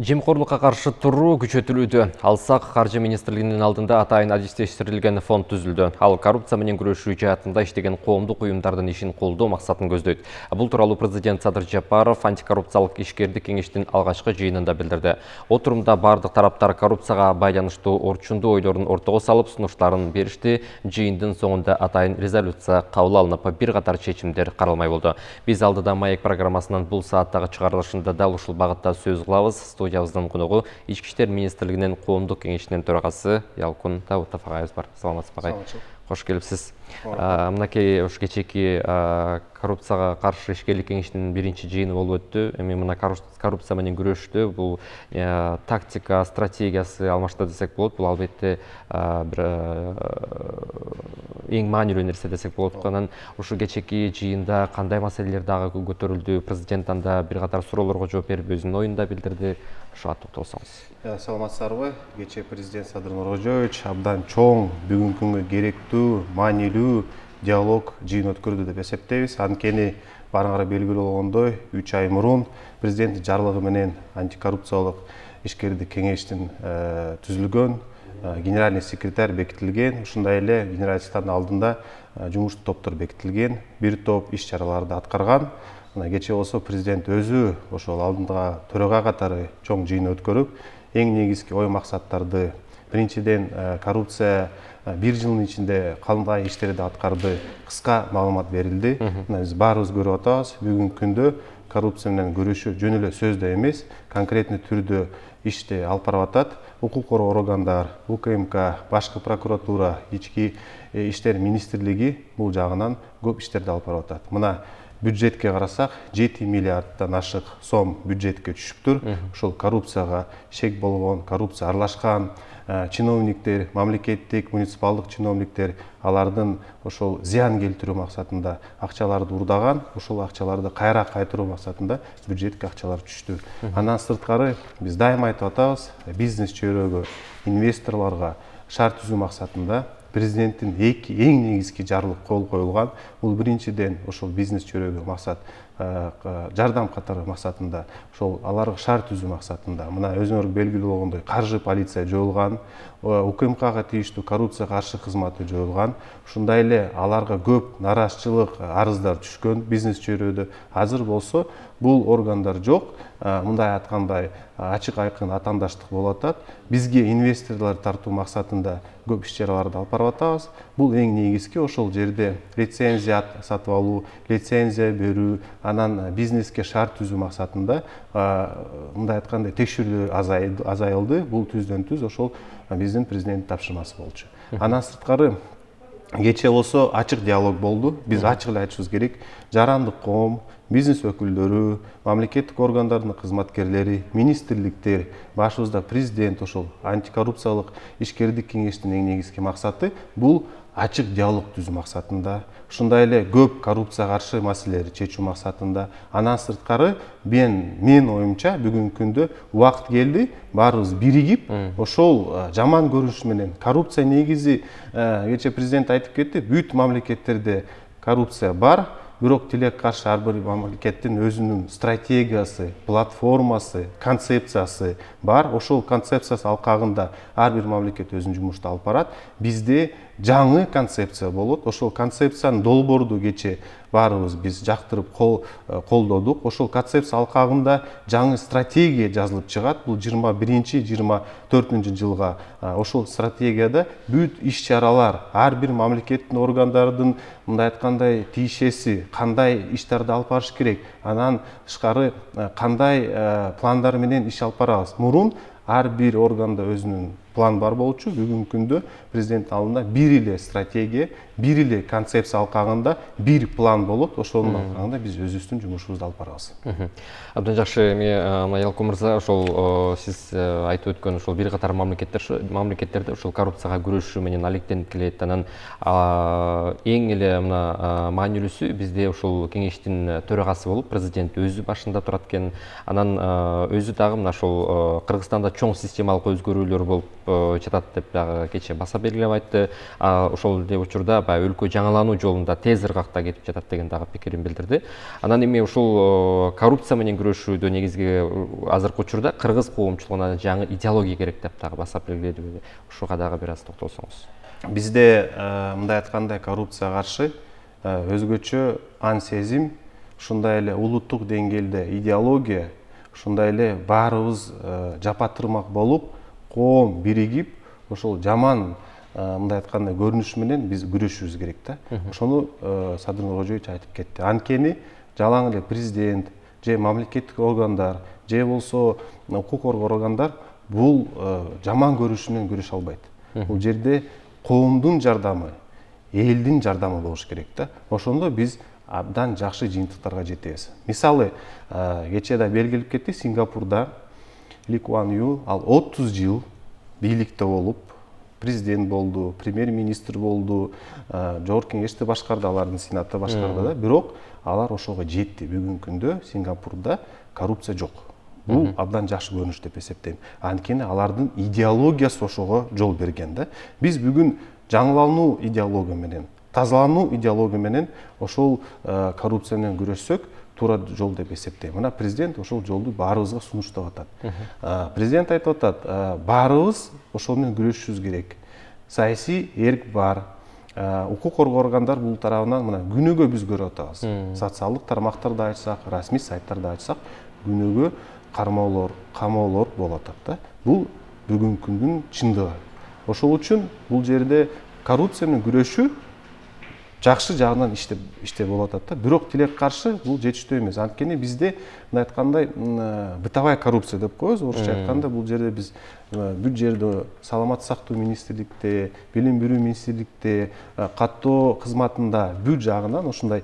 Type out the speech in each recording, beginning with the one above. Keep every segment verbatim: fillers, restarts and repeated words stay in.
Жемқорлукка каршы туруу күчөтүлүүдө. Алсак каржы министрлигинин алдында атайын адистештирилген фонд түзүлдү. Ал коррупция менен күрөшүү жаатында иштеген коомдук уюмдардын ишин колдоо максатын көздөйт. Бул тууралуу президент Садыр Жапаров антикоррупциялык ишкердик кеңештин алгачкы жыйынында билдирди. Отурумда бардык тараптар коррупцияга байланыштуу орчундуу ойлорун ортого салып, сунуштарын беришти. Жыйындын соңунда атайын резолюция кабыл алынып, бир катар чечимдер каралмай болду. Биз алдыда Маек программасынын бул сааттагы чыгарылышында дал ушул багытта сөз кылабыз. Студиябыздын коногу Ички иштер министрлигинин коомдук кеңешинин төрагасы Ялкун Давутов агайыбыз бар. Саламатсызбы агай? Кош келипсиз. Мынакей уш кечеки коррупцияга каршы ишкерлик кеңешинин биринчи жыйыны болуп өттү. Эми мына коррупция менен күрөштү бул тактика, стратегиясы алмашты десек болот. Бул албетте бир эң маанилүү нерсе десек болот. Анан ушу кечеки жыйында кандай маселелер дагы көтөрүлдү? Президент анда бир катар суроолорго жооп берип өзүнүн оюн да билдирди. Ушуга токтолсоңуз. Саламатсыздарбы? Кечээ президент Садыр Нуркожоевич абдан чоң, бүгүнкү күнгө керектүү, маанилүү диалог жыйын өткөрдү деп эсептейбиз. Анткени баарыңарга белгилүү болгондой, үч ай мурун президенттин жарлыгы менен антикоррупциялык ишкердик кеңештин түзүлгөн, генеральный секретарь бекитилген, ушундай эле генералдын алдында жумуштуу топтор бекитилген, бир топ иш чараларды аткарган. Кечээ болсо президент өзү ошол алдыга төрага катары чоң жыйын өткөрүп, эң негизги ой максаттарды, биринчиден коррупция бир жылдын ичинде кандай иштерди аткарды кыска маалымат берилди. Биз баарыбыз көрүп атабыз, бүгүнкү күндө коррупция менен күрөшүү жөн эле сөздө эмес, конкретный түрдө ишти алып барып атат. Укук коргоо органдар, У К М К, башкы прокуратура, ички иштер министрлиги бул жагынан көп иштерди алып барып атат. Мына бюджетке карасак, жети миллиарддан ашык сом бюджетке түшүптүр. Ошол коррупцияга шек болгон, коррупция аралашкан чиновниктер, мамлекеттик, муниципалдык чиновниктер, алардын ошол зыян келтирүү максатында акчаларды урдаган, ошол акчаларды кайра кайтаруу максатында бюджетке акчалар түштү. Андан сырткары биз дайыма айтып атабыз, бизнес чөйрөгө, инвесторлорго шарт түзүү максатында президенттин эки эң негизги жарлык кол коюлган. Бул биринчиден ошол бизнес чөйрөгө максат жардам катары максатында, ошол аларга шарт түзүү максатында. Мына өзүңөр белгилүү болгондой каржы полиция жоюлган, У К М Кга тийиштүү коррупция каршы кызматы жоюлган. Ушундай эле аларга көп нараазачылык арыздар түшкөн бизнес чөйрөдө. Азыр болсо бул органдар жок. Мындай айткандай ачык айкын атаандаштык болуп атат. Бизге инвесторлор тартуу максатында көп иш чараларды алып барып атабыз. Бул эң негизги ошол жерде лицензия сатып алуу, лицензия берүү, анан бизнеске шарт түзүү максатында мындай айтканда текшерүү азайылды. Бул түздөн түз ошол биздин президенттин тапшырмасы болчу. Андан сырткары кечээ болсо ачык диалог болду. Биз ачык эле айтышыбыз керек. Жарандык коом, бизнес өкүлдөрү, мамлекеттик органдардын кызматкерлери, министрликтер, башыбызда президент, ошол антикоррупциялык ишкердик кеңештин эң негизги максаты бул ачык диалог түзүү максатында, ушундай эле көп коррупцияга каршы маселелерди чечүү максатында. Андан сырткары мен менин оюмча бүгүнкү күндө убакыт келди, баарыбыз биригип, ошол жаман көрүнүш менен коррупция негизи кечээ президент айтып кетти, бүт мамлекеттерде коррупция бар. Бирок тилекке каршы ар бир мамлекеттин өзүнүн стратегиясы, платформасы, концепциясы бар. Ошол концепциясы алкагында ар бир мамлекет өзүнүн жумушту алып барат. Бизде жаңы концепция болот. Ошол концепциянын долбоорду кечээ баарыбыз биз жактырып колдодук. Ошол концепция алкагында жаңы стратегия жазылып чыгат. Бул жыйырма биринчи жыйырма төртүнчү жылга ошол стратегияда бүт иш чаралар, ар бир мамлекеттин органдардын мындай айткандай тиешеси, кандай иштерди алып барыш керек, анан тышкары кандай пландар менен иш алып барабыз. Мурун ар бир органда өзүнүн план бар болчу. Бүгүнкү күндө президенттин алдында бир эле стратегия, бир эле концепция алкагында бир план болот. Ошонун алкагында биз өзүбүздүн жумушубузду алып барабыз. Абдан жакшы. Эми Ялкун мырза, ошол сиз айтып өткөн ошол бир катар мамлекеттер мамлекеттерде ошол коррупцияга күрөшүү менен алектенип келет. Анан эң эле мына маанилүүсү бизде ошол кеңештин төрагасы болуп президент өзү башында турат экен. Анан өзү дагы мына ошол Кыргызстанда чоң системалык өзгөрүүлөр болуп жатат деп дагы кечээ баса белгилеп айтты. Ошол эле учурда баягы өлкө жаңылануу жолунда тез ыргакта кетип жатат деген дагы пикирин билдирди. Анан эми ушул коррупция менен күрөшүүдө негизги азыркы учурда кыргыз коомчулугуна жаңы идеология керек деп дагы баса белгиледи. Ушуга дагы бир аз токтолсоңуз. Бизде мындай айтканда коррупцияга каршы өзгөчө ан сезим, ушундай эле улуттук деңгээлде идеология, ушундай эле баарыбыз жапатырмак болуп, коом биригип, ошол жаман мындай айтканда көрүнүш менен биз күрөшүбүз керек да. Ошону Садыр Нуркожоевич айтып кетти. Анткени жалаң эле президент же мамлекеттик органдар, же болсо укук коргоо органдар бул жаман көрүнүш менен күрөшө албайт. Бул жерде коомдун жардамы, элдин жардамы болуш керек да. Ошондо биз абдан жакшы жыйынтыктарга жетебиз. Мисалы, кечээ да белгилеп кетти, Сингапурда Ли Куан Ю ал отуз жыл бийликте болуп, президент болду, премьер-министр болду, жогорку кеңешти башкарды, алардын сенатты башкарды да, бирок алар ошого жетти. Бүгүнкү күндө Сингапурда коррупция жок. Бул абдан жакшы көрүнүш деп эсептейм. Анткени алардын идеологиясы ошого жол берген да. Биз бүгүн жаңылануу идеология менен, тазалануу идеология менен ошол коррупция менен күрөшсөк, туура жол деп эсептейм. Мына президент ошол жолду баарыбызга сунуштап атат. Президент айтып атат, баарыбыз ошол менен күрөшүшүбүз керек. Саясий эрк бар. Укук коргоо органдар бул тарабынан мына күнүгө биз көрүп атабыз. Социалдык тармактарды ачсак, расмий сайттарды ачсак, күнүгө кармоолор, камоолор болуп атат да. Бул бүгүнкү күндүн чындыгы. Ошол үчүн бул жерде коррупция менен күрөшүү жакшы жагынан иштеп иштеп болуп атат да. Бирок тилек каршы бул жетиштүү эмес. Анткени бизде мындай айткандай бытовая коррупция деп коебуз. Орусча айтканда бул жерде биз бүт жерде саламаттык сактоо министрликте, билим берүү министрликте, каттоо кызматында бүт жагынан ушундай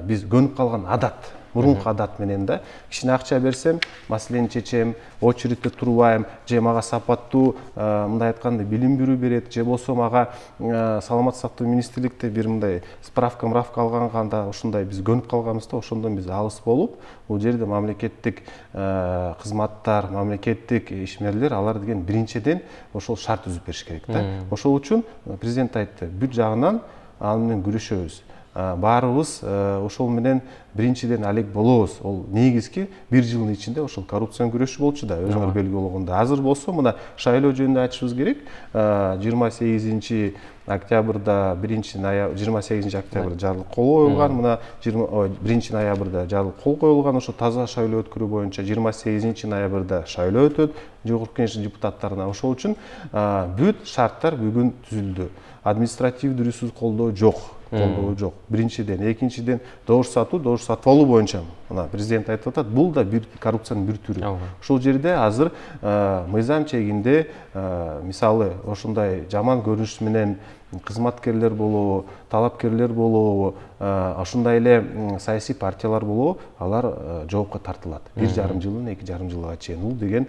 биз көнүп калган адат, мурунку адат менен да, кичине акча берсем, маселени чечем, очередте турбайм, же мага сапаттуу мындай айтканда билим берүү берет, же болсо мага саламаттык сактоо министрликте бир мындай справка мравка алганда ушундай биз көнүп калганбыз да, ошондон биз алыс болуп, бул жерде мамлекеттик кызматтар, мамлекеттик ишмерлер алар деген биринчиден ошол шарт түзүп бериш керек да. Ошол үчүн президент айтты, бүт жагынан ал менен күрөшөбүз. Баарыбыз ошол менен биринчиден алек болобуз. Ол негизги бир жылдын ичинде ошол коррупция менен күрөшүү болчу да, өзүңөр белгилүү болгондой. Азыр болсо мына шайлоо жөнүндө айтышыбыз керек. жыйырма сегизинчи октябрда биринчи ноябрь жыйырма сегизинчи октябрда жарлык кол коюлган, мына биринчи ноябрда жарлык кол коюлган ошо таза шайлоо өткөрүү боюнча жыйырма сегизинчи ноябрда шайлоо өтөт жогорку кеңештин депутаттарына. Ошол үчүн бүт шарттар бүгүн түзүлдү. Административдүү ресурс колдоо жок. Колдоо жок. Биринчиден, экинчиден добуш сатуу, добуш сатып алуу боюнча мына президент айтып атат, бул да бир коррупциянын бир түрү. Ошол жерде азыр мыйзам чегинде мисалы ошондой жаман көрүнүш менен кызматкерлер болобу, талапкерлер болобу, ошондой эле саясий партиялар болобу, алар жоопко тартылат. бир жарым жылдан эки жарым жылга чейин. Бул деген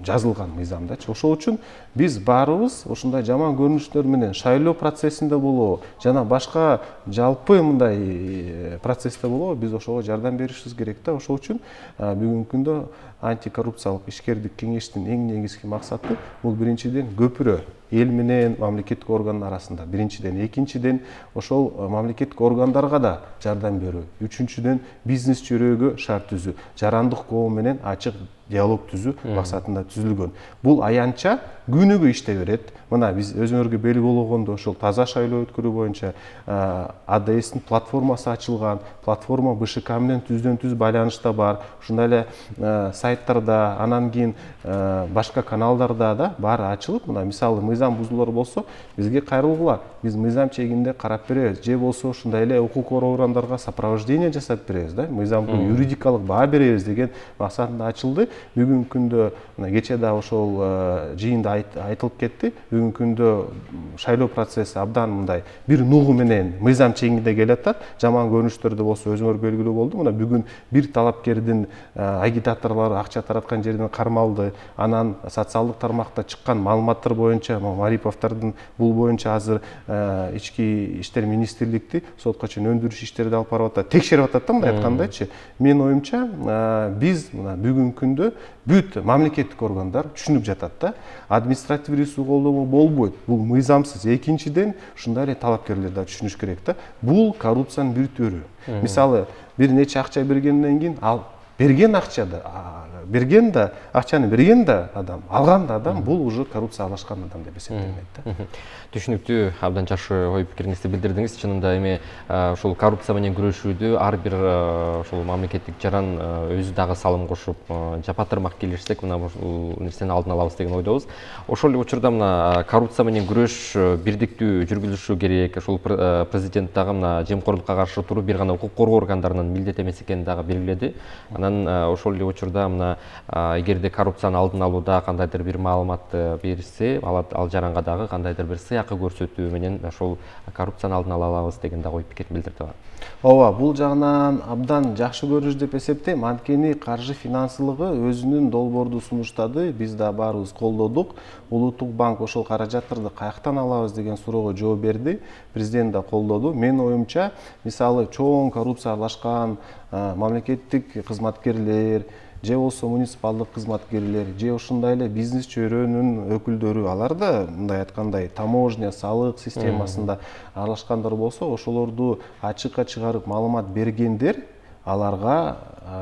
жазылган мыйзамдачы. Ошол үчүн биз баарыбыз ошондой жаман көрүнүштөр менен шайлоо процессинде болобу, жана башка жалпы мындай процессте болобу, биз ошого жардам беришибиз керек да. Ошол үчүн бүгүнкү күндө антикоррупциялык ишкердик кеңештин эң негизги максаты бул биринчиден көпүрө эл менен мамлекеттик органдар арасында, биринчиден, экинчиден ошол мамлекеттик органдарга да жардам берүү, үчүнчүдөн бизнес чөйрөгө шарт түзүү, жарандык коом менен ачык диалог түзүү максатында түзүлгөн. Бул аянтча күнүгө иштей берет. Мына биз өзүңөргө белгилүү болгондой ошол таза шайлоо өткөрүү боюнча А Д S'тин платформасы ачылган, платформа Б Ш К менен түздөн түз байланышта бар. Ушундай эле сайттарда, анан кийин башка каналдарда да баары ачылып, мына мисалы мыйзам бузуулар болсо, бизге кайрылгыла. Биз мыйзам чегинде карап беребиз, же болсо ушундай эле укук коргоо органдарга сопровождение жасап беребиз да, мыйзамдын юридикалык баа беребиз деген максатында ачылды. Бүгүнкү күндө кечээ да ошол жыйында айтылып кетти. Бүгүнкү күндө шайлоо процесси абдан мындай бир нугу менен мыйзам чегинде келатат. Жаман көрүнүштөрдө болсо өзүңөр белгилүү болду. Мына бүгүн бир талапкердин агитаторлор акча тараткан жерден кармалды. Анан социалдык тармакта чыккан маалыматтар боюнча Мариповдордун бул боюнча азыр ички иштер министрликти сотко чейин өндүрүш иштерди алып барып атат, текшерип атат да, мындай айткандачы. Менин оюмча биз мына бүгүнкү күндө жөнүндө бүт мамлекеттик органдар түшүнүп жатат да. Административ ресурс колдонуу болбойт. Бул мыйзамсыз. Экинчиден, ушундай эле талапкерлер да түшүнүш керек да. Бул коррупциянын бир түрү. Мисалы, бир нече акча бергенден кийин ал берген акчада, берген да, акчаны берген да адам, алган да адам, бул уже коррупция аралашкан адам деп эсептелинет да. Түшүнүктүү, абдан жакшы ой пикириңизди билдирдиңиз. Чынында эми ушул коррупция менен күрөшүүдө ар бир ушул мамлекеттик жаран өзү дагы салым кошуп, жапатырмак келишсек, мына бул нерсени алдын алабыз деген ойдобуз. Ошол эле учурда мына коррупция менен күрөш бирдиктүү жүргүзүлүшү керек. Ошол президент дагы мына жемкорлукка каршы туруу бир гана укук коргоо органдарынын милдети эмес экенин дагы белгиледи. Анан ошол эле учурда мына эгерде коррупцияны алдын алууда кандайдыр бир маалыматты берсе, ал жаранга дагы кандайдыр бир сыйакы көрсөтүү менен ошол коррупцияны алдын ала алабыз деген дагы ой пикир билдирди. Ооба, бул жагынан абдан жакшы көрүнүш деп эсептейм. Анткени каржы финансылыгы өзүнүн долбоорду сунуштады, биз да баарыбыз колдодук. Улуттук банк ошол каражаттарды каяктан алабыз деген суроого жооп берди. Президент да колдоду. Менин оюмча, мисалы, чоң коррупция аралашкан мамлекеттик кызматкерлер, же болсо муниципалдык кызматкерлер, же ошондой эле бизнес чөйрөнүн өкүлдөрү, алар да мындай айткандай таможня, салык системасында аралашкандар болсо, ошолорду ачыкка чыгарып маалымат бергендер, аларга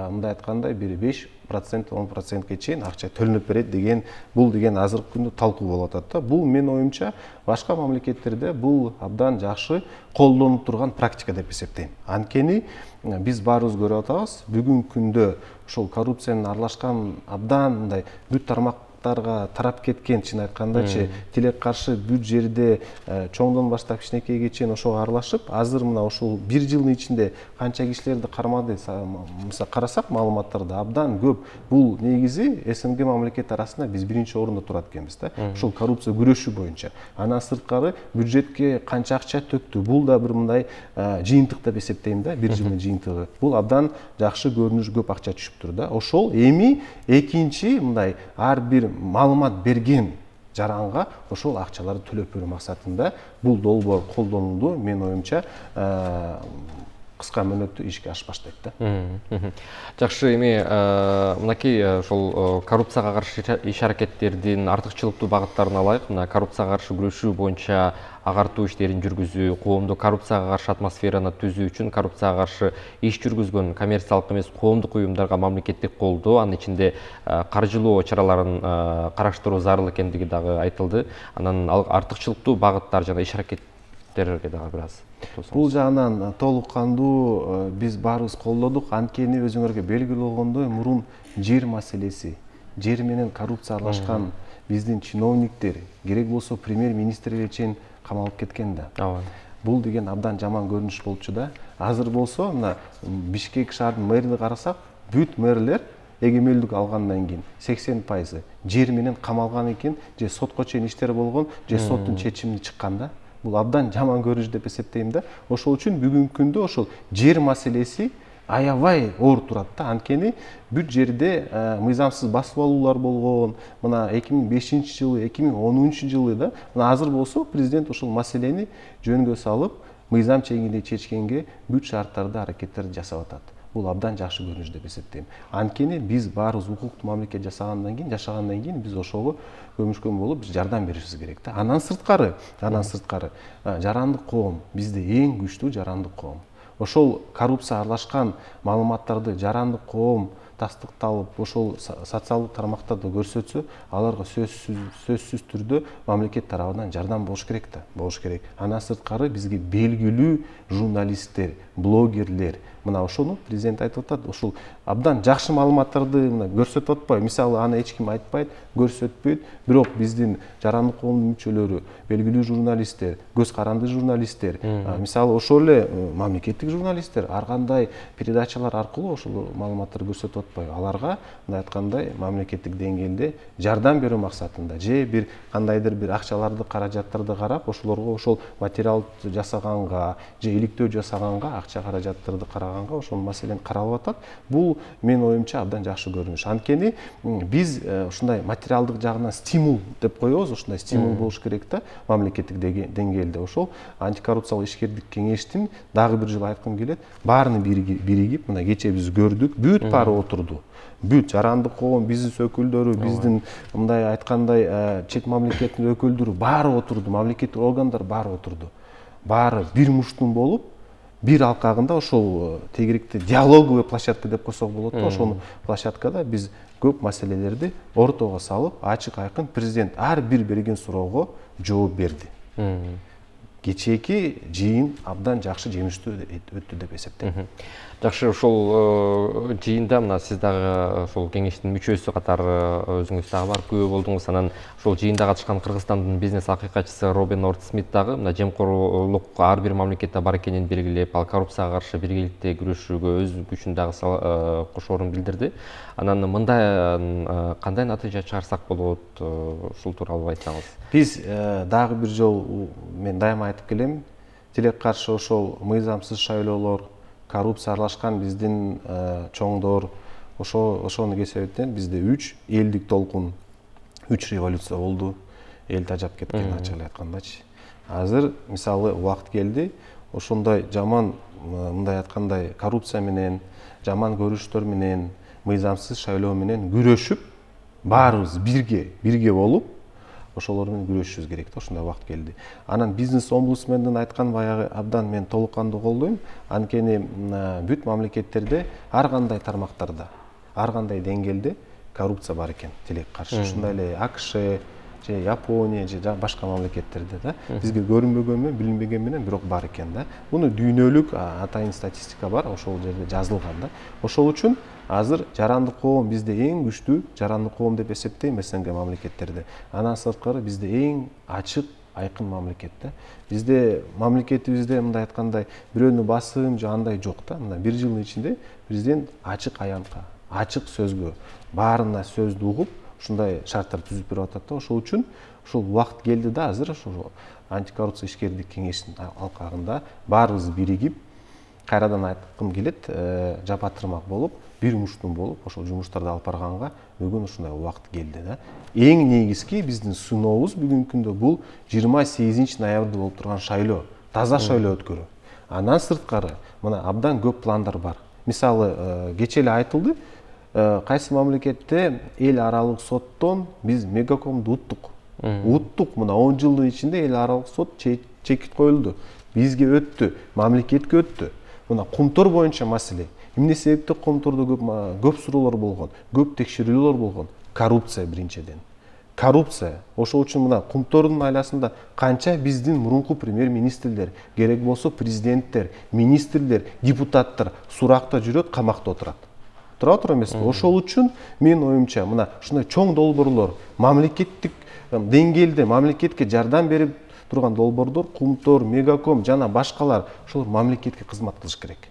мындай айткандай бир беш процент он процентке чейин акча төлөнүп берет деген, бул деген азыркы күндө талкуу болуп атат да. Бул менин оюмча башка мамлекеттерде бул абдан жакшы колдонуп турган практика деп эсептейм. Анткени биз баарыбыз көрүп атабыз, бүгүнкү күндө ошол коррупциянын аралашкан абдан мындай бүт тармактарга тарап кеткен, чын айткандачы, тилек каршы бүт жерде чоңдон баштап кичинекейге чейин ошого аралашып, азыр мына ошол бир жылдын ичинде канча кишилерди кармады, мисалы карасак маалыматтарды абдан көп. Бул негизи СНГ мамлекет арасында биз биринчи орунда турат экенбиз да. Ошол коррупция күрөшүү боюнча. Андан сырткары бюджетке канча акча төктү, бул да бир мындай жыйынтык деп эсептейм да, бир жылдын жыйынтыгы. Бул абдан жакшы көрүнүш, көп акча түшүптүр да. Ошол эми экинчи мындай ар бир маалымат берген жаранга ошол акчаларды төлөп берүү максатында бул долбоор колдонулду. Менин оюмча кыска мөөнөттө ишке ашып баштайт да. Жакшы, эми мынакей ошол коррупцияга каршы иш аракеттердин артыкчылыктуу багыттарын алайык. Мына коррупцияга каршы күрөшүү боюнча агартуу иштерин жүргүзүү, коомдук коррупцияга каршы атмосфераны түзүү үчүн коррупцияга каршы иш жүргүзгөн коммерциялык эмес коомдук уюмдарга мамлекеттик колдоо, анын ичинде каржылоо чараларын караштыруу зарыл экендиги дагы айтылды. Анан артыкчылыктуу багыттар жана иш аракеттерге дагы бир аз. Бул жагынан толук кандуу биз баарыбыз колдодук. Анткени өзүңөргө белгилүү болгондой, мурун жер маселеси, жер менен коррупция аралашкан биздин чиновниктер, керек болсо премьер-министрлер чейин камалып кеткен да. Бул деген абдан жаман көрүнүш болчу да. Азыр болсо мына Бишкек шаарынын мэрин карасак, бүт мэрлер эгемелдик алгандан кийин сексен пайызы жер менен камалган экен, же сотко чейин иштер болгон, же соттун чечими чыккан да. Бул абдан жаман көрүнүш деп эсептейм да. Ошол үчүн бүгүнкү күндө ошол жер маселеси аябай оор турат да. Анткени бүт жерде мыйзамсыз басып алуулар болгон. Мына эки миң бешинчи жылы, эки миң онунчу жылы да. Мына азыр болсо президент ошол маселени жөнгө салып, мыйзам чегинде чечкенге бүт шарттарды, аракеттерди жасап атат. Бул абдан жакшы көрүнүш деп эсептейм. Анткени биз баарыбыз укуктуу мамлекет жасагандан кийин, жашагандан кийин биз ошого көмүшкөн болуп жардам беришибиз керек да. Андан сырткары, андан сырткары жарандык коом бизде эң күчтүү жарандык коом. Ошол коррупция аралашкан маалыматтарды жарандык коом тастыкталып, ошол социалдык тармактарда көрсөтсө, аларга сөзсүз сөзсүз түрдө мамлекет тарабынан жардам болуш керек да, болуш керек. Андан сырткары бизге белгилүү журналисттер, блогерлер, мына ошону президент айтып атат, ошол абдан жакшы маалыматтарды мына көрсөтүп атпайбы. Мисалы, аны эч ким айтпайт, көрсөтпөйт, бирок биздин жарандык коомдун мүчөлөрү, белгилүү журналисттер, көз каранды журналисттер, мисалы ошол эле мамлекеттик журналисттер ар кандай передачалар аркылуу ошол маалыматтарды көрсөтүп атпайбы. Аларга мындай айткандай мамлекеттик деңгээлде жардам берүү максатында, же бир кандайдыр бир акчаларды, каражаттарды карап, ошолорго ошол материал жасаганга, же иликтөө жасаганга акча каражаттарды караганга ошол маселени каралып атат. Бул менин оюмча абдан жакшы көрүнүш. Анткени биз ушундай материалдык жагынан стимул деп коебуз, ушундай стимул болуш керек да мамлекеттик деңгээлде. Ошол антикоррупциялык ишкердик кеңештин дагы бир жолу айткым келет, баарыны биригип, мына кечээ биз көрдүк, бүт баары отурду. Бүт жарандык коом, бизнес өкүлдөрү, биздин мындай айткандай чет мамлекеттин өкүлдөрү баары отурду, мамлекеттик органдар баары отурду. Баары бир муштун болуп, бир алкагында ошол тегеректе диалоговый площадка деп койсок болот да, ошол площадкада биз көп маселелерди ортого салып, ачык айкын президент ар бир берген суроого жооп берди. Кечээки жыйын абдан жакшы жемиштүү өттү деп эсептейм. Жакшы, ошол жыйында мына сиз дагы ошол кеңештин мүчөсү катары өзүңүз дагы барып күбө болдуңуз. Анан ошол жыйында катышкан Кыргызстандын бизнес акыйкатчысы Робин Норт Смит дагы мына жемкорлук ар бир мамлекетте бар экенин белгилеп, ал коррупцияга каршы биргеликте күрөшүүгө өз күчүн дагы кошоорун билдирди. Анан мындай кандай натыйжа чыгарсак болот, ушул тууралуу айтсаңыз. Биз дагы бир жолу мен дайыма айтып келем, тилек каршы ошол мыйзамсыз шайлоолор, коррупция аралашкан биздин чоңдор, ошону кесебеттен бизде үч элдик толкун, үч революция болду. Эл тажап кеткен, ачык эле айткандачы. Азыр мисалы убакыт келди, ошондой жаман, мындай айткандай коррупция менен, жаман көрүштөр менен, мыйзамсыз шайлоо менен күрөшүп, баарыбыз бирге, бирге болуп, ошолор менен күрөшүшүбүз керек да, ошондой убакыт келди. Анан бизнес омбудсмендин айткан баягы абдан мен толук кандуу колдойм. Анткени бүт мамлекеттерде ар кандай тармактарда, ар кандай деңгээлде коррупция бар экен, тилек каршы. Ушундай эле АКШ же Япония же башка мамлекеттерде да бизге көрүнбөгөн менен, билинбеген менен бирок бар экен да. Муну дүйнөлүк атайын статистика бар, ошол жерде жазылган да. Ошол үчүн азыр жарандык коом бизде эң күчтүү жарандык коом деп эсептейм СНГ мамлекеттерде. Андан сырткары бизде эң ачык, айкын мамлекет да. Бизде мамлекетибизде мындай айткандай бирөөнү басым же андай жок да. Мына бир жылдын ичинде президент ачык аянтка, ачык сөзгө, баарына сөздү угуп, ушундай шарттар түзүп берип атат да. Ошол үчүн ушул убакыт келди да, азыр ошол антикоррупция ишкердик кеңештин алкагында баарыбыз биригип, кайрадан айткым келет, жапатырмак болуп, бир муштун болуп, ошол жумуштарды алып барганга бүгүн ушундай убакыт келди да. Эң негизги биздин сынообуз бүгүнкү күндө бул жыйырма сегизинчи ноябрда болуп турган шайлоо, таза шайлоо өткөрүү. Андан сырткары мына абдан көп пландар бар. Мисалы, кечээ эле айтылды, кайсы мамлекетте эл аралык соттон биз Мегакомду уттук. Уттук, мына он жылдын ичинде эл аралык сот чекит коюлду. Бизге өттү, мамлекетке өттү. Мына кумтор боюнча маселе. Эмне себептен кумтордо көп көп суроолор болгон, көп текшерүүлөр болгон? Коррупция биринчиден. Коррупция. Ошол үчүн мына кумтордун айласында канча биздин мурунку премьер-министрлер, керек болсо президенттер, министрлер, депутаттар суракта жүрөт, камакта отурат. Тура отур эмеспи? Ошол үчүн менин оюмча мына ушундай чоң долбоорлор, мамлекеттик деңгээлде мамлекетке жардам берип турган долбоордор, Кумтор, Мегаком жана башкалар ошолор мамлекетке кызмат кылыш керек.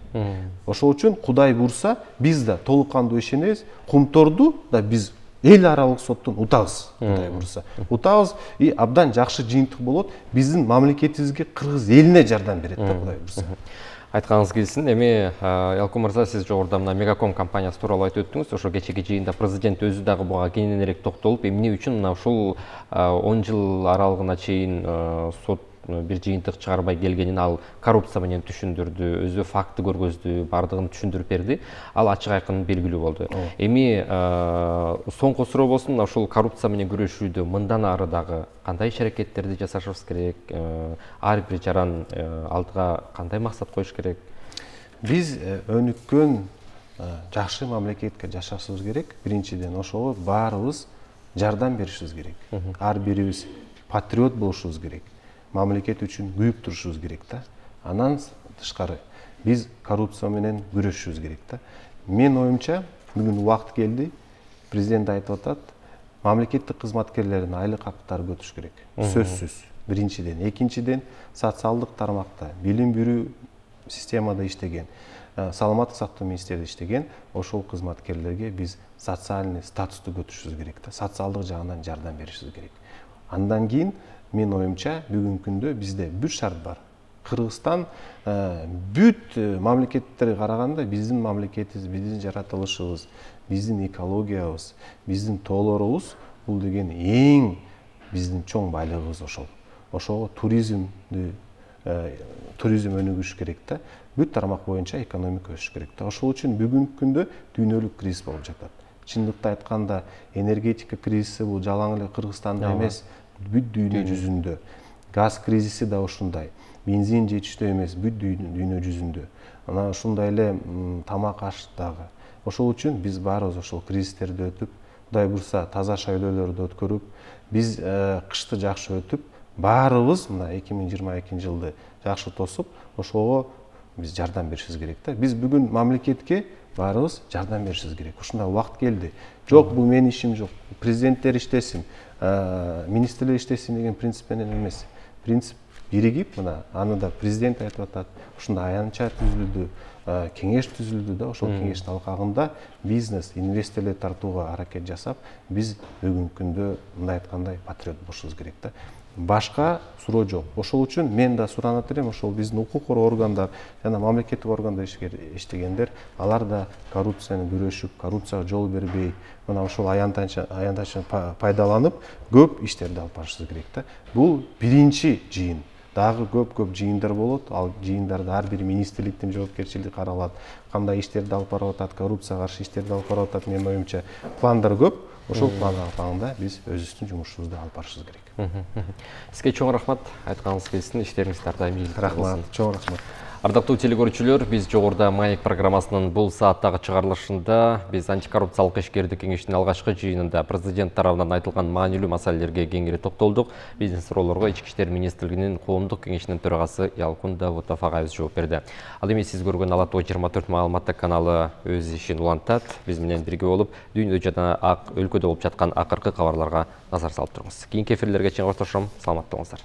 Ошол үчүн Кудай бурса, биз да толук кандуу ишенебиз, Кумторду да биз эл аралык соттон утабыз, Кудай бурса. Утабыз и абдан жакшы жыйынтык болот, биздин мамлекетибизге, кыргыз элине жардам берет да, Кудай бурса. Айтканыңыз келсин. Эми Ялкын мырза, сиз жогоруда мына Мегаком компаниясы тууралуу айтып өттүңүз. Ошо кечеги жыйында президент өзү дагы буга кененирээк токтолуп, эмне үчүн мына ушул он жыл аралыгына чейин сот бир жыйынтык чыгарбай келгенин ал коррупция менен түшүндүрдү, өзү факты көргөздү, бардыгын түшүндүрүп берди. Ал ачык айкын белгилүү болду. Эми соңку суроо болсун, ушул коррупция менен күрөшүүдө мындан ары дагы кандай иш-аракеттерди жасашыбыз керек? Ар бир жаран алдыга кандай максат коюш керек? Биз өнүккөн жакшы мамлекетке жашашыбыз керек. Биринчиден ошого баарыбыз жардам беришибиз керек. Ар бирибиз патриот болушубуз керек. Мамлекет үчүн күйүп турушубуз керек да. Андан тышкары биз коррупция менен күрөшүшүбүз керек да. Мен оюмча бүгүн убакыт келди. Президент айтып атат, мамлекеттик кызматкерлердин айлык акчалары көтүрүш керек. Сөзсүз. Биринчиден, экинчиден социалдык тармакта, билим берүү системада иштеген, саламаттык сактоо министрлигинде иштеген ошол кызматкерлерге биз социальный статусту көтүрүшүбүз керек да. Социалдык жагынан жардам беришибиз керек. Андан кийин мен оюмча бүгүнкү күндө бизде бир шарт бар. Кыргызстан бүт мамлекеттерге караганда биздин мамлекетибиз, биздин жаратылышыбыз, биздин экологиябыз, биздин тоолорубуз бул деген эң биздин чоң байлыгыбыз ошол. Ошого туризмди туризм өнүгүш керек да. Бүт тармак боюнча экономика өсүш керек да. Ошол үчүн бүгүнкү күндө дүйнөлүк кризис болуп жатат. Чындыкты айтканда, энергетика кризиси бул жалаң эле Кыргызстанда эмес, бүт дүйнө жүзүндө. Газ кризиси да ушундай. Бензин жетиштүү эмес, бүт дүйнө жүзүндө. Анан ушундай эле тамак аш дагы. Ошол үчүн биз баарыбыз ошол кризистерди өтүп, Кудай буйрса таза шайлоолорду өткөрүп, биз кышты жакшы өтүп, баарыбыз мына эки миң жыйырма экинчи жылды жакшы тосуп, ошого биз жардам беришибиз керек да. Биз бүгүн мамлекетке баарыбыз жардам беришибиз керек. Ушундай убакыт келди. Жок, бул менин ишим жок. Президенттер иштесин, министрлер иштесин деген принцип менен эмес. Принцип биригип, мына аны да президент айтып атат. Ушундай аянтча түзүлдү, кеңеш түзүлдү да. Ошол кеңештин алкагында бизнес, инвесторлорду тартууга аракет жасап, биз бүгүнкү күндө мындай айткандай патриот болушубуз керек да. Башка суроо жок. Ошол үчүн мен да суранат элем, ошол биздин укук коргоо органдар жана мамлекеттик органдар иштегендер, алар да коррупцияны күрөшүп, коррупцияга жол бербей, мына ошол аянтчаны пайдаланып, көп иштерди алып барышыбыз керек да. Бул биринчи жыйын. Дагы көп-көп жыйындар болот. Ал жыйындарда ар бир министрликтин жоопкерчилиги каралат. Кандай иштерди алып барып атат, коррупцияга каршы иштерди алып барып атат, менин оюмча пландар көп. Ошол план алкагында биз өзүбүздүн жумушубузду алып барышыбыз керек. Сизге чоң рахмат, айтканыңыз келсин, иштериңиз ар дайым ийгиликтүү болсун. Рахмат, чоң рахмат. Ардактуу телекөрүүчүлөр, биз жогоруда Маек программасынын бул сааттагы чыгарылышында биз антикоррупциялык ишкердик кеңештин алгачкы жыйынында президент тарабынан айтылган маанилүү маселелерге кеңири токтолдук. Биздин суроолорго Ички иштер министрлигинин коомдук кеңешинин төрагасы Ялкын Давутов агайыбыз жооп берди. Ал эми сиз көргөн Ала Тоо жыйырма төрт маалыматтык каналы өз ишин улантат. Биз менен бирге болуп, дүйнөдө жана өлкөдө болуп жаткан акыркы кабарларга назар салып туруңуз. Кийинки эфирлерге чейин коштошом. Саламатта болуңуздар.